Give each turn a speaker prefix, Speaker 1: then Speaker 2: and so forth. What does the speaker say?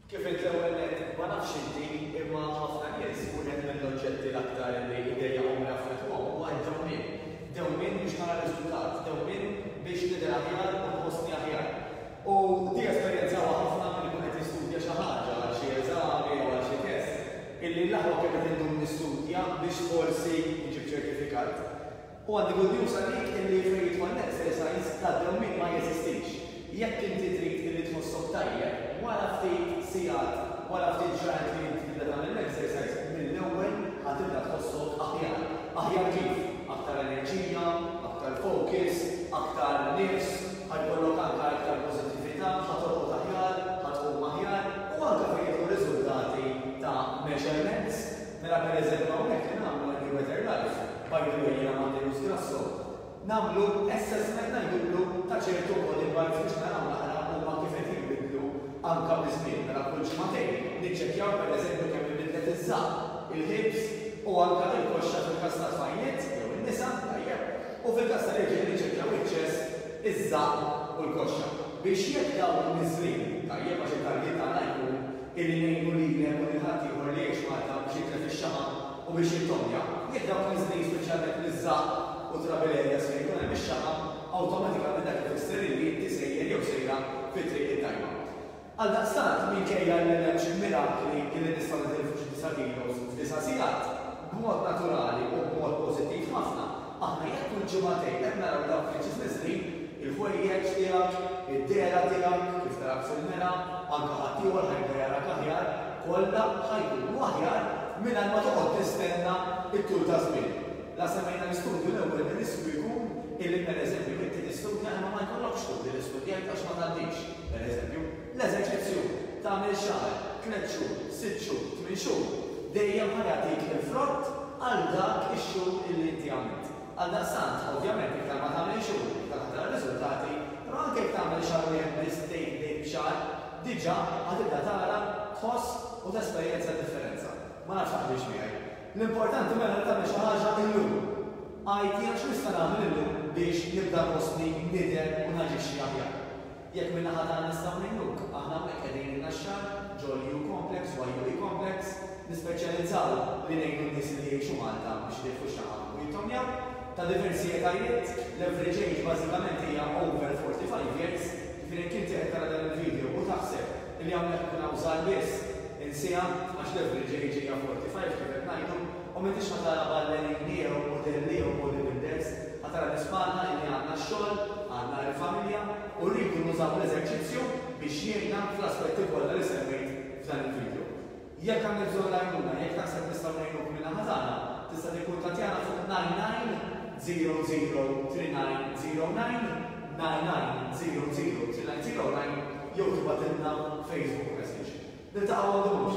Speaker 1: Kif għidt l-ewwel nett, ma nafx inti, imma ħafna nies, wieħed mill-oġġetti l-aktar li jdejjaqhom u jaffettwahom huwa d-dewmien. Dewmien biex nara riżultat, dewmien biex nidher aħjar u nħossni aħjar. U di esperjenzawha ħafna min ikun qed jistudja xi ħaġa għal xi eżami jew għal xi test, illi l-aħwa kemm qed indum nistudja biex forsi nġib ċertifikat. U għandi good news għalik illi fejn jidħol l-exercise tad-dewmien ma jeżistix. Jekk inti trid illi tħossok tajjeb, wara ftit sigħat, wara ftit ġranet li inti tibda tagħmel l-exercise, mill-ewwel ħa tibda tħossok aħjar. Aħjar kif? Aktar enerġija, aktar focus, aktar nifs, ħa jkollok anka iktar pożittività, ħa torqod aħjar, ħa tqum aħjar u anka fejn jidħlu riżultati ta' measurements. Mela per eżempju hawnhekk li nagħmlu għal New Better Life, by the way jiena Mateusz Grasso, nagħmlu assessment ngħidulu ta' ċertu body parts biex naraw naqra huma kif qed jinbidlu anka biż-żmien. Mela kull ġimagħtejn niċċekkjaw per eżempju kemm inbidlet iż-żaqq, il-hips u anka il-koxxa fil-każ tat-tfajliet jew in-nisa, tajjeb, u fil-każ tal-irġiel niċċekkjaw iċ-chest, iż-żaqq u l-koxxa. Biex jekk dawn niżlin, tajjeb għax it-target tagħna jkun illi ngħinu lilek u lil ħaddieħor li jgħix Malta biex jitlef ix-xaħam u biex jittomja. Jekk dawk niżlin speċjalment miż-żaqq u travel areas fejn ikun hemm ix-xaħam, awtomatikament dak ifisser illi inti sejjer jew sejra fit-triq it-tajba. Għaldaqstant, minkejja li m'hemmx mirakli illi nistgħu nitilfu xi disa' kilos f'disa' sigħat, b'mod naturali u b'mod pożittiv ħafna, Aħna jekk kull ġimagħtejn qed naraw dawk l-inches niżlin, il-ħwejjeġ tiegħek, id-dehra tiegħek, kif tarak fil-mera, anke ħaddieħor ħa jibda jarak aħjar, kollha ħa jkunu aħjar mingħajr ma toqgħod tistenna t-tul ta' żmien. La semmejna l-istudju l-ewwel ir-riskju jkun illi pereżempju inti tistudja imma ma jkollokx turi li studjajt għax ma tgħaddix, pereżempju. L-eżerċizzju, tagħmel xahar, tlett xhur, sitt xhur, tmien xhur, dejjem ħa jagħtik il-frott għal dak ix-xhur illi inti għamilt. Għaldaqstant, ovvjament iktar ma tagħmel xhur, iktar ħa tara riżultati, però anke jekk tagħmel xahar wieħed biss, tgħid bdejt b'xahar, diġà ħa tibda tara, tħoss u tesperjenza d-differenza. Ma nafx taqbilx miegħi. L-importanti mela li tagħmel xi ħaġa illum. Għid jiena x'nista' nagħmel illum biex nibda nħossni nidher u naġixxi aħjar. Jekk min-naħa tagħna nistgħu ngħinuk, aħna hawnhekk qegħdin in-Naxxar, ġol-U Complex, YUE Complex, nispeċjalizzaw li ngħinu n-nies li jgħixu Malta biex itilfu x-xaħam u jittomjaw, ta' diversi etajiet, l-average age bażikament hija over 45 years, jiġifieri jekk inti qed tara dan il-video u taħseb li hawnhekk ikun hawn żgħar biss, insiha għax l-average age hija 45 kif qed ngħidu, u m'intix ħa tara ballerini jew mudelli jew bodybuilders, ħa tara nies bħalna illi għandna x-xogħol, għandna il-familja u rridu nużaw l-eżerċizzju biex jgħinna fl-aspetti kollha li semmejt f'dan il-video. Jekk għandek bżonn l-għajnuna, jekk taħseb nistgħu ngħinuk min-naħa tagħna, tista' tikkuntattjana fuq 9900 3909, 9900 3909 jew tibgħatilna Facebook message. Niltaqgħu ma ndumux.